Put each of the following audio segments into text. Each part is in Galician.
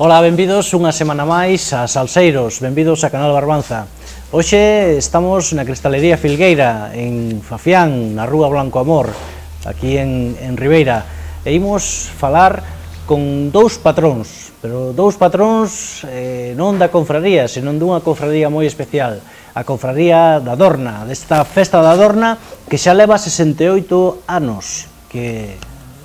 Ola, benvidos unha semana máis a Salseiros, benvidos a Canal Barbanza. Hoxe estamos na Cristalería Filgueira, en Fafián, na Rúa Blanco Amor, aquí en Ribeira. E imos falar con dous patróns, pero dous patróns non da confraría, senón dunha confraría moi especial, a confraría da Dorna, desta festa da Dorna que xa leva 68 anos, que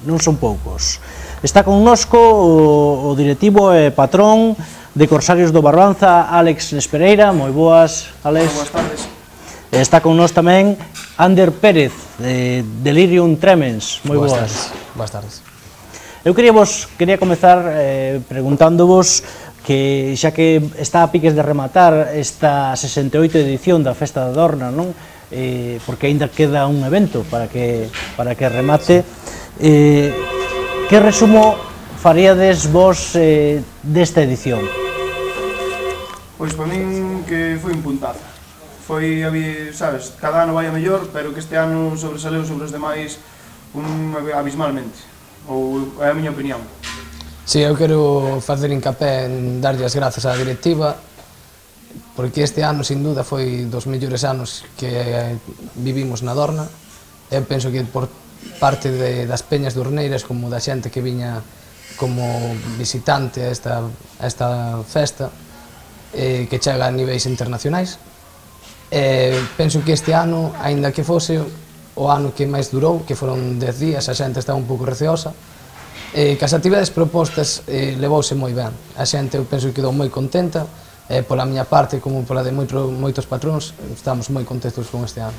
non son poucos. Está connosco o directivo e patrón de Corsarios do Barbanza, Álex Nespereira. Moi boas, Álex. Boas tardes. Está con nós tamén Ander Pérez, de Delirium Tremens. Moi boas. Boas tardes. Eu quería comezar preguntándovos que xa que está a piques de rematar esta 68 edición da Festa da Dorna, non? Porque aínda queda un evento para que remate. Que resumo faríades vos desta edición? Pois para min que foi un puntazo. Foi, sabes, cada ano vai a mellor, pero que este ano sobresaleu sobre os demais abismalmente. Ou é a miña opinión. Si, eu quero facer hincapé en darlle as grazas á directiva, porque este ano, sin duda, foi dos mellores anos que vivimos na Dorna. Eu penso que por parte das peñas dorneiras, como da xente que viña como visitante a esta festa, que chega a niveis internacionais. Penso que este ano, aínda que fose o ano que máis durou, que foron 10 días, a xente estaba un pouco receosa, que as actividades propostas levouse moi ben. A xente, eu penso que quedou moi contenta, pola miña parte, como pola de moitos patróns, estamos moi contentos con este ano.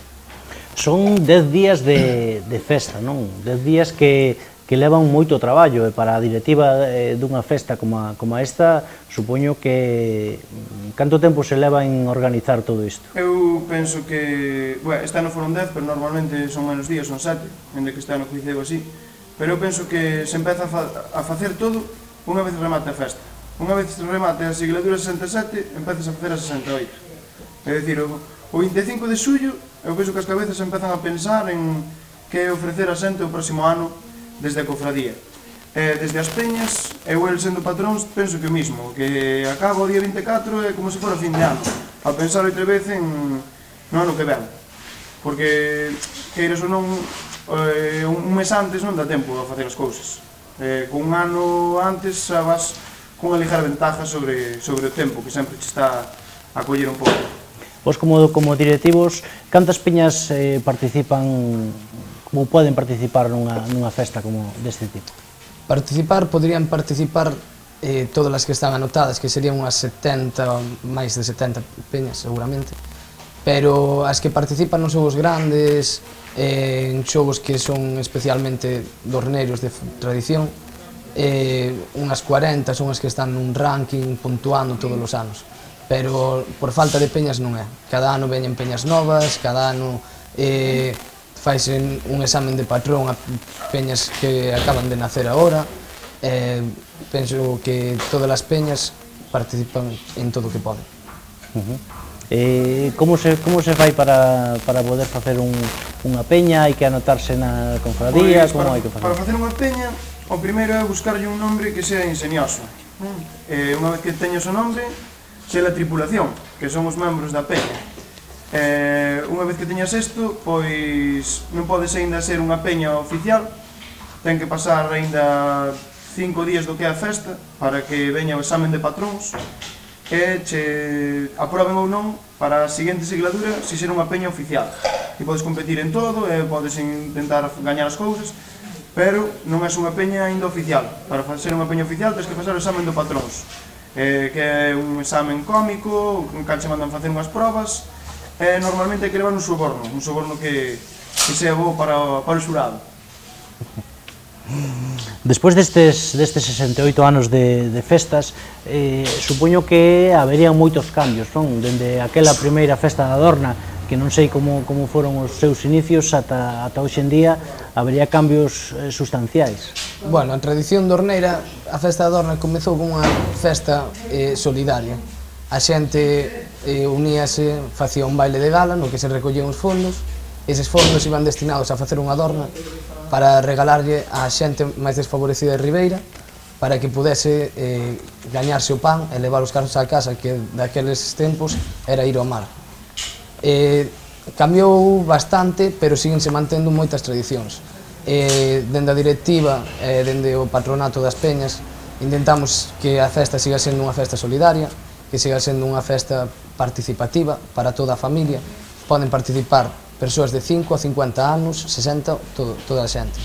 Son 10 días de festa, non? 10 días que levan moito traballo, e para a directiva dunha festa como esta, supoño que canto tempo se leva en organizar todo isto? Eu penso que, este ano foron 10, pero normalmente son menos días, son 7, onde que este ano coinceu así, pero eu penso que se empeza a facer todo unha vez remate a festa. Unha vez remate a sigladura 67, empezas a facer a 68. É dicir, o 25 de xullo, eu penso que as cabezas empezan a pensar en que ofrecer a xente o próximo ano desde a cofradía. Desde as peñas, eu sendo patróns, penso que o mismo, que acaba o día 24 é como se fora fin de ano, a pensar outra vez no ano que ven. Porque, queiras ou non, un mes antes non dá tempo a facer as cousas. Con un ano antes xa vas con unha ligera ventaja sobre o tempo, que sempre te está a coller un pouco. Vos como directivos, cantas peñas participan, como poden participar nunha festa como deste tipo? Podrían participar todas as que están anotadas, que serían unhas 70, máis de 70 peñas seguramente, pero as que participan nos xogos grandes, en xogos que son especialmente dorneiros de tradición, unhas 40 son as que están nun ranking puntuando todos os anos. Pero por falta de peñas non é. Cada ano veñen peñas novas, cada ano faise un examen de patrón a peñas que acaban de nacer agora. Penso que todas as peñas participan en todo o que poden. Como se fai para poder facer unha peña? Hai que anotarse na confradía? Como hai que facer? Para facer unha peña, o primeiro é buscarlle un nombre que sea ingenioso. Unha vez que teñas o nombre, se a tripulación, que son os membros da peña. Unha vez que teñas isto, pois non podes aínda ser unha peña oficial, ten que pasar aínda 5 días do que é a festa para que veña o examen de patróns e che aproben ou non para a seguinte sigladura se ser unha peña oficial. E podes competir en todo e podes intentar gañar as cousas, pero non és unha peña aínda oficial. Para ser unha peña oficial tens que pasar o examen do patróns, que é un examen cómico, un cal che mandan facer unhas probas, e normalmente hai que levar un soborno que sea bo para o xurado. Despois destes 68 anos de festas, supoño que haberían moitos cambios, non? Dende aquela primeira festa da Adorna, que non sei como foron os seus inicios, ata hoxe en día, habería cambios sustanciais. Bueno, a tradición dorneira, a festa da Adorna comezou como unha festa solidaria. A xente uníase, facía un baile de gala no que se recollían os fondos. Eses fondos iban destinados a facer unha adorna para regalarlle á xente máis desfavorecida de Ribeira, para que pudese gañarse o pan e levar os carros á casa, que daqueles tempos era ir ao mar. Cambiou bastante, pero síguense mantendo moitas tradicións. Dende a directiva, dende o patronato das peñas, intentamos que a festa siga sendo unha festa solidaria, que siga sendo unha festa participativa para toda a familia. Poden participar persoas de 5 a 50 anos, 60, toda a xente.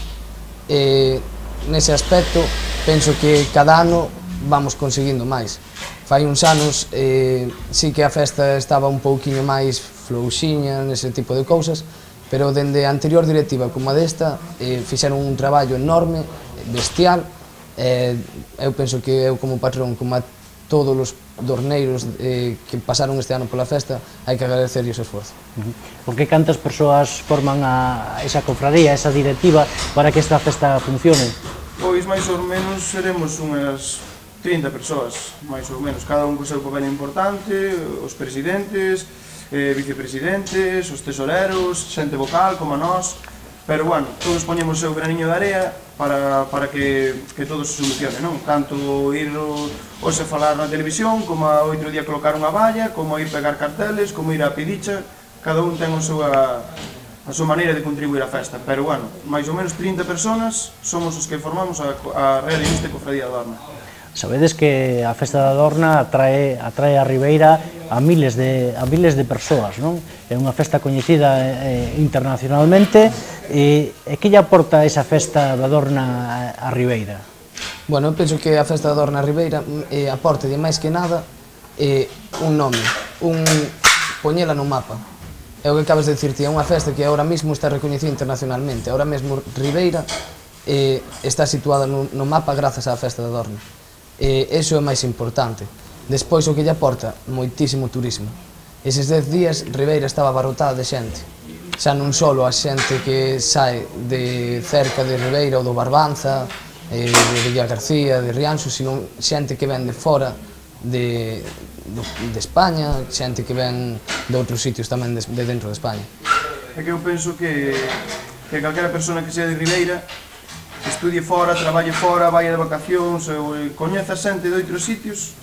Nese aspecto, penso que cada ano vamos conseguindo máis. Fai uns anos, sí que a festa estaba un pouquiño máis flouxiña, nese tipo de cousas, pero dende a anterior directiva como a desta, fixeron un traballo enorme, bestial. Eu penso que eu como patrón, como a todos os dorneiros que pasaron este ano pola festa, hai que agradecerlle o esforzo. Porque cantas persoas forman esa cofradía, esa directiva, para que esta festa funcione? Pois máis ou menos seremos unhas 30 persoas, máis ou menos, cada un co seu papel importante, os presidentes, vicepresidentes, os tesoreros, xente vocal como a nós, pero, bueno, todos poñemos o seu graniño de area para que todo se solucione, non? Tanto ir hoxe falar na televisión, como a outro día colocar unha valla, como ir pegar carteles, como ir á pidicha, cada un ten a súa maneira de contribuir á festa, pero, bueno, máis ou menos 30 personas somos os que formamos a Real Ilustre Cofradía da Adorna. Sabedes que a festa da Adorna atrae a Ribeira a miles de persoas, non? É unha festa coñecida internacionalmente, e que lle aporta esa festa da Adorna a Ribeira? Bueno, eu penso que a festa da Adorna a Ribeira aporta de máis que nada un nome, poñela no mapa. É o que acabas de dicirte, é unha festa que agora mesmo está recoñecida internacionalmente. Agora mesmo Ribeira está situada no mapa grazas á festa da Adorna. Eso é máis importante. Despois o que lle aporta, moitísimo turismo. Eses 10 días Ribeira estaba abarrotada de xente. Xa non só a xente que sae de cerca de Ribeira ou do Barbanza, de Villa García, de Rianxo, sino xente que ven de fora de España, xente que ven de outros sitios tamén de dentro de España. É que eu penso que calquera persona que sea de Ribeira, estudie fora, traballe fora, vai de vacacións, coñeza xente de outros sitios,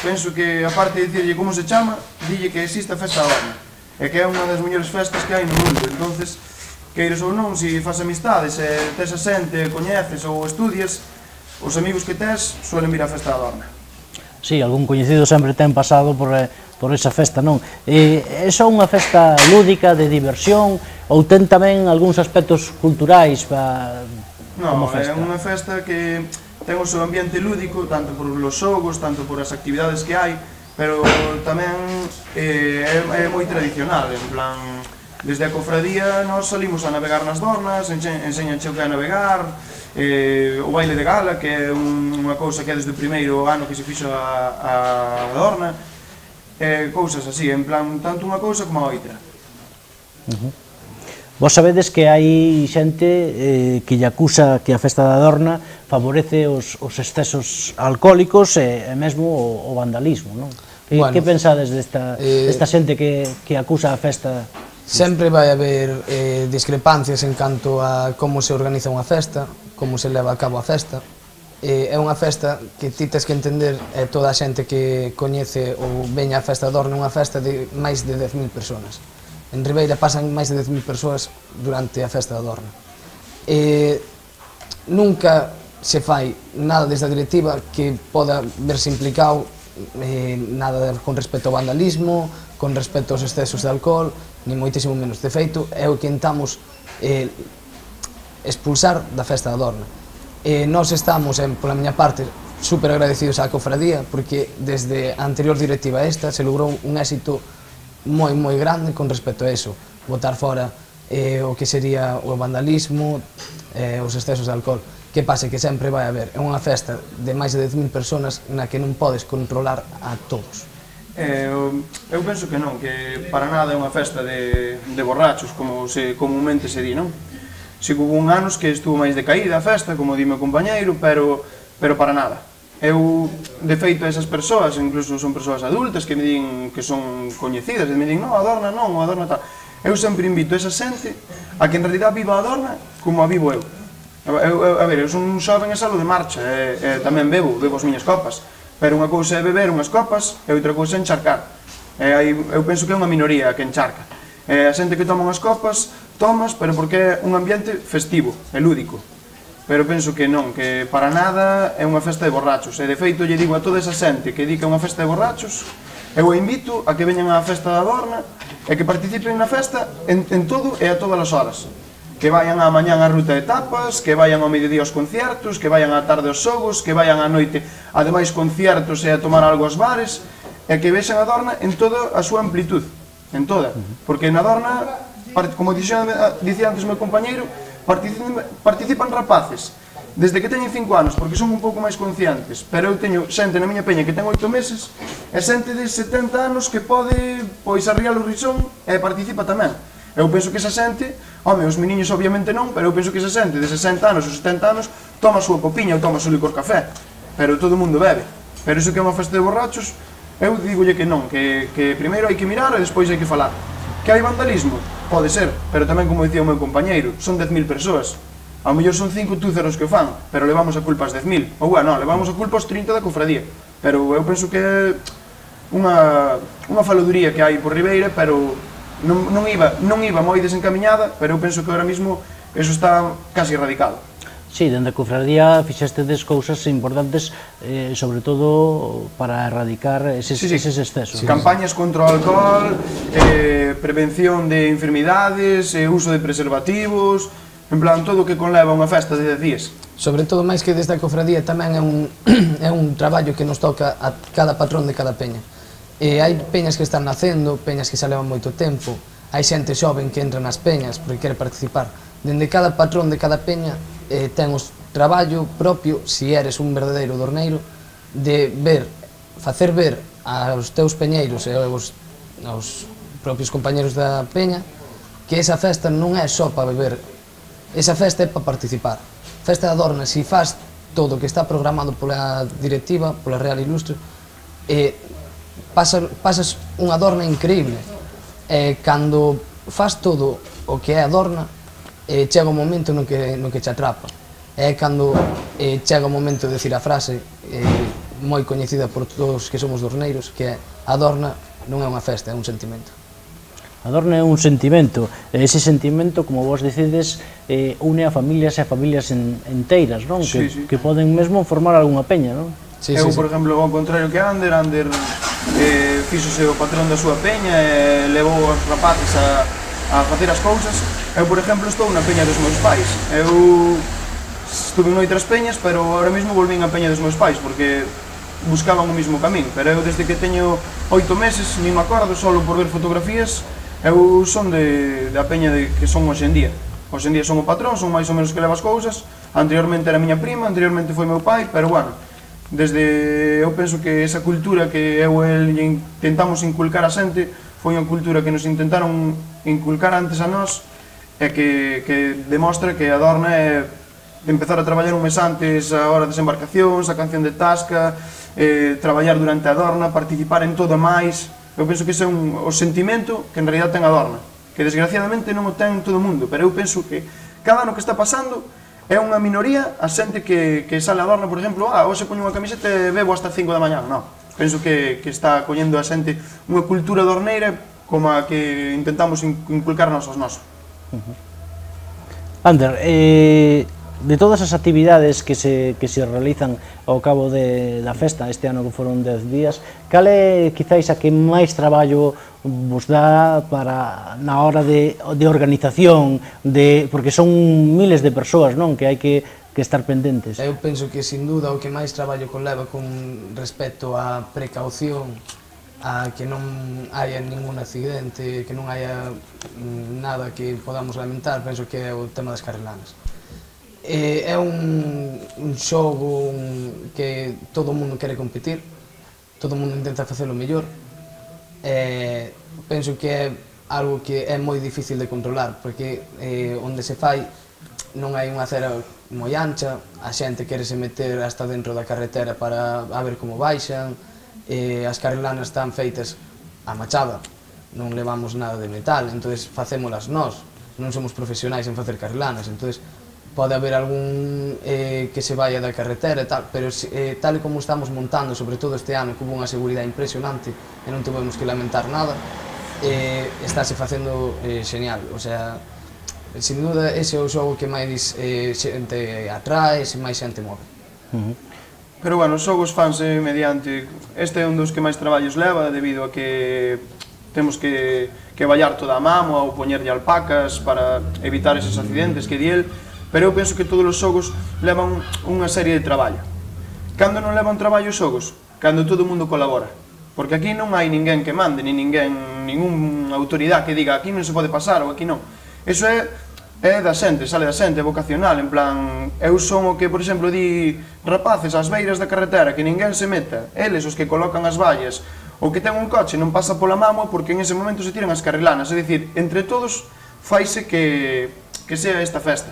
penso que, aparte de dicirlle como se chama, dille que existe a festa da Adorna, e que é unha das mellores festas que hai no mundo. Entonces, queires ou non, se faz amistades, tes a xente, coñeces ou estudias, os amigos que tes suelen vir á festa da Adorna. Sí, algún coñecido sempre ten pasado por esa festa, non? É só unha festa lúdica, de diversión, ou ten tamén algúns aspectos culturais como festa? Non, é unha festa que ten o seu ambiente lúdico, tanto por los xogos, tanto por as actividades que hai, pero tamén é moi tradicional, en plan, desde a cofradía nós salimos a navegar nas dornas, enseñanche o que é navegar, o baile de gala, que é unha cousa que é desde o primeiro ano que se fixo a dorna, cousas así, en plan, tanto unha cousa como a outra. Vos sabedes que hai xente que lle acusa que a festa da Adorna favorece os excesos alcohólicos e mesmo o vandalismo, non? Que pensades desta xente que acusa a festa? Sempre vai haber discrepancias en canto a como se organiza unha festa, como se leva a cabo a festa. É unha festa que ti tes que entender, toda a xente que coñece ou veña a festa da Adorna, unha festa de máis de 10.000 persoas. En Ribeira pasan máis de 10.000 persoas durante a festa da Adorna. Nunca se fai nada desde a directiva que poda verse implicado nada con respecto ao vandalismo, con respecto aos excesos de alcohol, ni moitísimo menos. De feito, é o que intentamos expulsar da festa da Adorna. Nós estamos, pola miña parte, super agradecidos á cofradía, porque desde a anterior directiva esta se logrou un éxito moi grande con respecto a eso, botar fora o que sería o vandalismo, os excesos de alcohol. Que pasa? Que sempre vai haber unha festa de máis de 10.000 personas na que non podes controlar a todos. Eu penso que non, que para nada é unha festa de borrachos, como comúnmente se di, non? Si hubo un anos que estuvo máis decaída a festa, como di meu compañeiro, pero para nada. Eu, de feito, esas persoas, incluso son persoas adultas que me din que son coñecidas, e me din, non, Adorna non, o Adorna tal. Eu sempre invito esa xente a que en realidad viva a Adorna como a vivo eu. A ver, eu son un xoven e salo de marcha, e tamén bebo as miñas copas. Pero unha cousa é beber unhas copas e outra cousa é encharcar. Eu penso que é unha minoría que encharca. A xente que toma unhas copas, tomas, pero porque é un ambiente festivo, e lúdico. Pero penso que non, que para nada é unha festa de borrachos. E de feito, lle digo a toda esa xente que di que é unha festa de borrachos, eu a invito a que veñan á festa da Adorna e que participen na festa en todo e a todas as horas. Que vayan á mañán á ruta de tapas, que vayan ao mediodía aos conciertos, que vayan á tarde aos xogos, que vayan á noite a demais conciertos e a tomar algo aos bares, e que vexan a Adorna en toda a súa amplitud, en toda. Porque na Adorna, como dicía antes o meu compañeiro, participan rapaces, desde que teñen 5 anos, porque son un pouco máis conscientes, pero eu teño xente na miña peña que ten 8 meses, e xente de 70 anos que pode, pois, arriar o risón e participa tamén. Eu penso que esa xente, home, os meniños obviamente non, pero eu penso que esa xente de 60 anos ou 70 anos toma a súa copiña ou toma o seu licor café, pero todo o mundo bebe. Pero iso que é unha festa de borrachos, eu digolle que non, que primeiro hai que mirar e despois hai que falar. Que hai vandalismo? Pode ser, pero tamén, como dicía o meu compañeiro, son 10.000 persoas. Ao mellor son 5 túceros que o fan, pero levamos a culpa as 10.000. Ou, bueno, levamos a culpa aos 30 da cofradía. Pero eu penso que é unha faladuría que hai por Ribeira, pero non iba moi desencamiñada, pero eu penso que ahora mismo eso está casi erradicado. Sí, dende a cofradía fixestedes cousas importantes, sobre todo para erradicar eses excesos. Campañas contra o alcohol, prevención de enfermidades, uso de preservativos, en plan, todo o que conleva unha festa de 10 días. Sobre todo, máis que desde a cofradía, tamén é un traballo que nos toca a cada patrón de cada peña. Hai peñas que están nacendo, peñas que xa levan moito tempo, hai xente xoven que entra nas peñas porque quere participar. Dende cada patrón de cada peña ten o traballo propio, se eres un verdadeiro dorneiro, de facer ver aos teus peñeiros e aos propios compañeros da peña que esa festa non é só para beber, esa festa é para participar. Festa da Adorna, se faz todo o que está programado pola directiva, pola Real Ilustre, pasas unha Adorna increíble. Cando faz todo o que é a Adorna, chega un momento no que te atrapa. É cando chega o momento de decir a frase moi coñecida por todos que somos dorneiros, que é: a Adorna non é unha festa, é un sentimento. A Adorna é un sentimento, e ese sentimento, como vos dicides, une a familias e a familias enteiras, non? Que poden mesmo formar algunha peña, non? Eu, por exemplo, ao contrario que Ander fíxose o patrón da súa peña e levou os rapaces a facer as cousas. Eu, por exemplo, estou na peña dos meus pais. Eu estuve en outras peñas, pero ahora mesmo volvín a peña dos meus pais, porque buscaban o mesmo camín. Pero eu, desde que teño 8 meses, nin me acordo, solo por ver fotografías, eu son da peña que son hoxe en día. Hoxe en día son o patrón, son máis ou menos que leva as cousas. Anteriormente era miña prima, anteriormente foi meu pai, pero bueno, eu penso que esa cultura que eu e el intentamos inculcar a xente foi unha cultura que nos intentaron inculcar antes a nós, e que demostra que a Adorna é empezar a traballar un mes antes a hora das embarcacións, a canción de Tasca, traballar durante a Adorna, participar en todo máis. Eu penso que ese é o sentimento que en realidad ten a Adorna, que desgraciadamente non o ten todo o mundo, pero eu penso que cada ano que está pasando é unha minoría a xente que sale a Adorna, por exemplo, hoxe poño unha camiseta e bebo hasta 5 da mañá. Non, penso que está collendo a xente unha cultura dorneira como a que intentamos inculcarnos aos nosos. Ander, de todas as actividades que se realizan ao cabo da festa, este ano que foron 10 días, cal é quizáis a que máis traballo vos dá na hora de organización, porque son miles de persoas, non, que hai que estar pendentes? Eu penso que, sin duda, o que máis traballo conleva con respecto á precaución, a que non haya ningún accidente, que non haya nada que podamos lamentar, penso que é o tema das carrelanas. É un xogo que todo o mundo quere competir, todo o mundo intenta facelo mellor. Penso que é algo que é moi difícil de controlar, porque onde se fai non hai unha acera moi ancha, a xente quere se meter hasta dentro da carretera para a ver como baixan, as carrilanas están feitas a machada, non levamos nada de metal, entonces facémolas nós, non somos profesionais en facer carrilanas, entonces pode haber algún que se vaya da carretera e tal, pero tal e como estamos montando, sobre todo este ano, que hubo unha seguridade impresionante e non tuvemos que lamentar nada, estáse facendo genial, o sea, sin duda ese é o xogo que máis xente atrae, máis xente move. Pero bueno, os xogos fanse mediante, este é un dos que máis traballos leva debido a que temos que vallar toda a mamo ou poñerlle alpacas para evitar eses accidentes que di el, pero eu penso que todos os xogos levan unha serie de traballo. Cando non levan traballo os xogos? Cando todo o mundo colabora. Porque aquí non hai ninguén que mande, ni ninguén, ningún autoridade que diga aquí non se pode pasar ou aquí non. Eso é da xente, sale da xente, é vocacional, en plan, eu son o que, por exemplo, di rapaces ás beiras da carretera, que ninguén se meta, eles os que colocan as vallas, o que ten un coche non pasa pola mamo porque en ese momento se tiran as carrilanas, é dicir, entre todos faise que sea esta festa,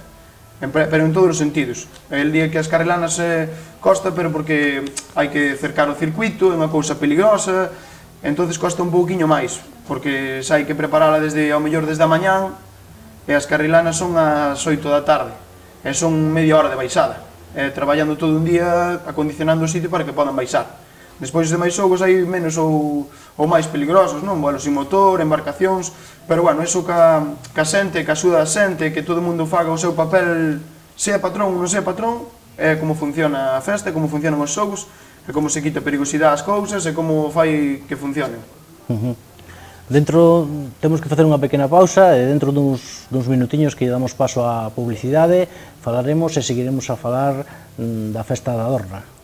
pero en todos os sentidos. El día que as carrilanas costa, pero porque hai que cercar o circuito, é unha cousa peligrosa, entonces costa un pouquiño máis, porque xa hai que preparala ao mellor desde a mañán, e as carrilanas son ás 8 da tarde, e son media hora de baixada, traballando todo un día, acondicionando o sitio para que podan baixar. Despois de máis xogos hai menos ou máis peligrosos, non? Bueno, sin motor, embarcacións, pero bueno, eso ca xente, ca axuda a xente, que todo o mundo faga o seu papel, sea patrón ou non sea patrón, é como funciona a festa, como funcionan os xogos, é como se quita perigosidade ás cousas, é como fai que funcionen. Temos que facer unha pequena pausa e dentro duns minutiños que damos paso á publicidade falaremos e seguiremos a falar da festa da Dorna.